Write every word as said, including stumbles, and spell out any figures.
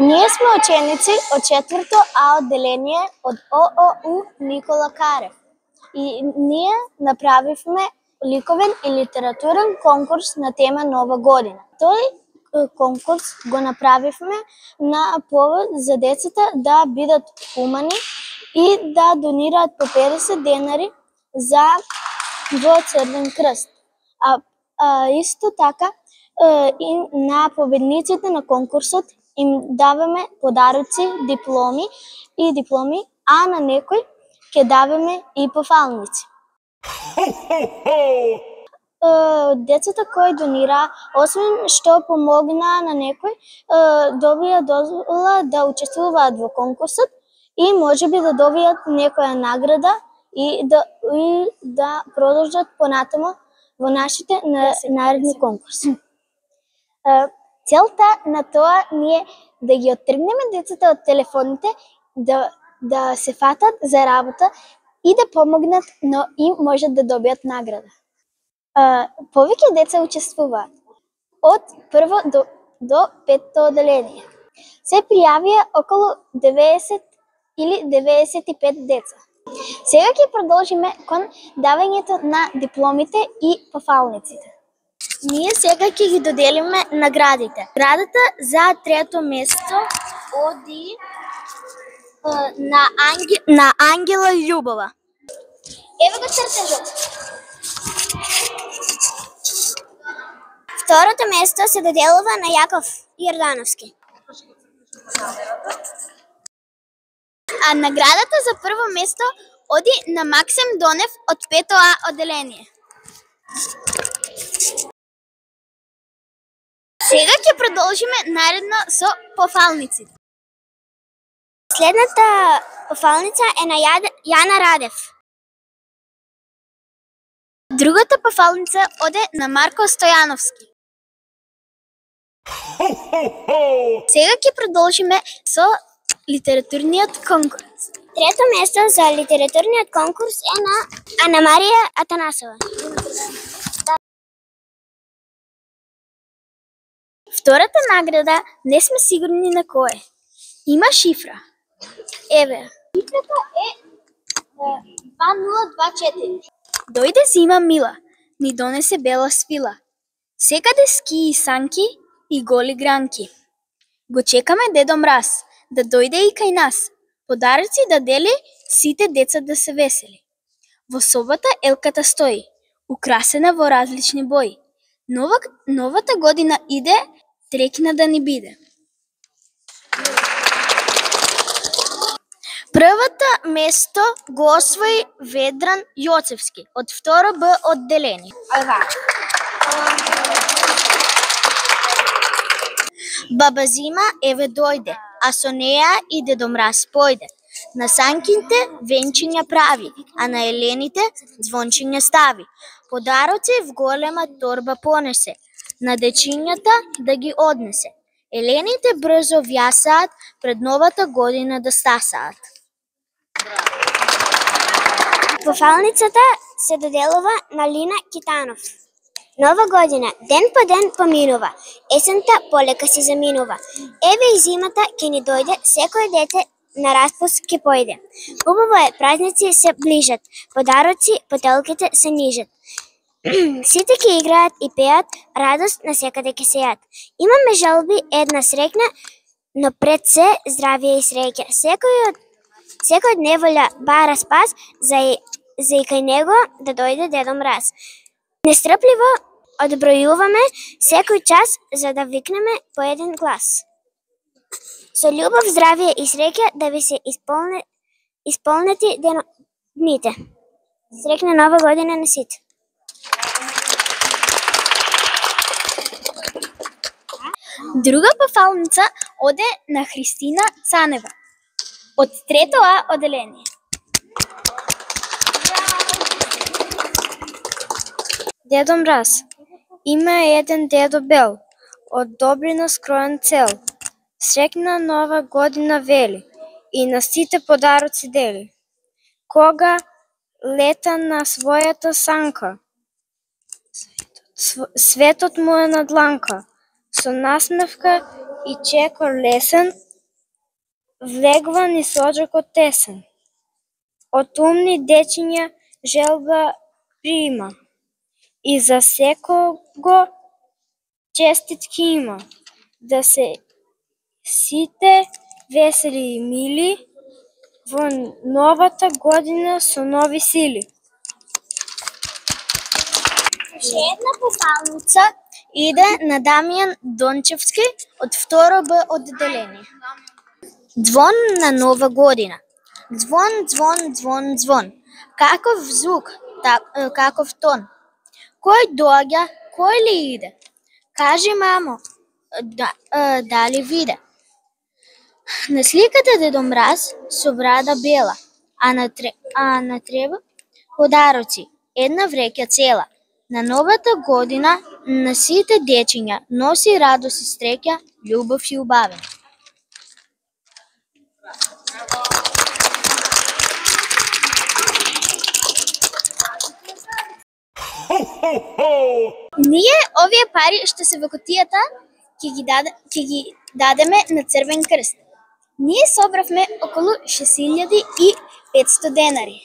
Ние сме ученици од четврто А одделение од О О У Никола Карев и ние направивме ликовен и литературен конкурс на тема Нова година. Тој конкурс го направивме на повод за децата да бидат хумани и да донираат по педесет денари за во Црвен крст. А, а исто така и на победниците на конкурсот им даваме подароци, дипломи и дипломи, а на некој ќе даваме и пофалници. Децата кои донира, освен што помогнаа на некој, добија дозвола да учествуваат во конкурсот и можеби да добијат некоја награда и да и да продолжат понатаму во нашите наредни конкурси. Целта на тоа ние да ги оттргнеме децата од телефоните, да да се фатат за работа и да помогнат, но и можат да добијат награда. А, повеќе деца учествуваат од прво до до петто одделение. Се пријавија околу деветдесет или деветдесет и пет деца. Сега ќе продолжиме кон давањето на дипломите и пофалниците. Ние сега ќе ги доделиме наградите. Наградата за трето место оди на Анге... на Ангела Љубова. Ево го чртежот. Второто место се доделува на Јаков Јордановски. А наградата за прво место оди на Максим Донев од пето А одделение. Сега ќе продолжиме наредно со пофалниците. Следната пофалница е на Јана Радев. Другата пофалница оде на Марко Стојановски. Сега ќе продолжиме со литературниот конкурс. Трето место за литературниот конкурс е на Ана Марија Атанасова. Втората награда не сме сигурни на кој. Има шифра. Еве. Шифрата е два нула два четири. Дојде зима мила, ни донесе бела свила. Секаде ски и санки и голи гранки. Го чекаме Дедо Мраз да дојде и кај нас. Подароци да дели, сите деца да се весели. Во собата елката стои, украсена во различни бои. Нова, новата година иде, трекна да ни биде. Првата место го освои Ведран Јоцевски од второ Б одделение. Баба Зима еве дојде, а со неа и Дедо Мраз појде. На санките венчиња прави, а на елените звончиња стави. Подароци в голема торба понесе, на дечињата да ги однесе. Елените брзо вјасаат, пред новата година да стасаат. Пофалницата се доделува на Лина Китанов. Нова година, ден по ден поминува, есента полека си заминува. Еве и зимата ќе ни дојде, секој дете на распуст ќе појде. Хубаво е, празници се ближат, подароци по телките се нижат. Сите ќе играат и пеат, радост на секаде ќе сеат. Имаме жалби, една срекна, но пред се здравие и среќа. Секој од секој од неволја бара спас, за и, за и кај него да дојде Дедо Мраз. Нестрпливо одбројуваме секој час, за да викнеме по еден глас. Со љубов, здравие и среќа да ви се исполне, исполнети дено, дните. Срекна нова година на сите. Друга пофалница оде на Христина Цанева од трето А одделение. Дедо Мраз, има еден дедо бел, од добрина скроен цел. Срекна нова година вели и на сите подароци дели. Кога лета на својата санка, светот му е на дланка, со насмевка и чекор лесен, влегва низ оджакот тесен. Од умни дечиња желба прима, и за секого честитки има, да се сите весели и мили во новата година со нови сили. Уште една пофалница иде на Дамјан Дончевски од второ Б одделение. Звон на нова година. Звон, звон, звон, звон. Каков звук, каков тон. Кој доаѓа, кој ли иде? Кажи, мамо, да, дали виде? На сликата Дедо Мраз со брада бела, а на, тре, а на треба подароци, една вреќа цела. На новата година на сите дечиња носи радост и среќа, љубов и убавина. Ние овие пари што се во кутијата ќе ги даде, ќе ги дадеме на Црвен крст. Ние собравме околу шест илјади и петсто денари.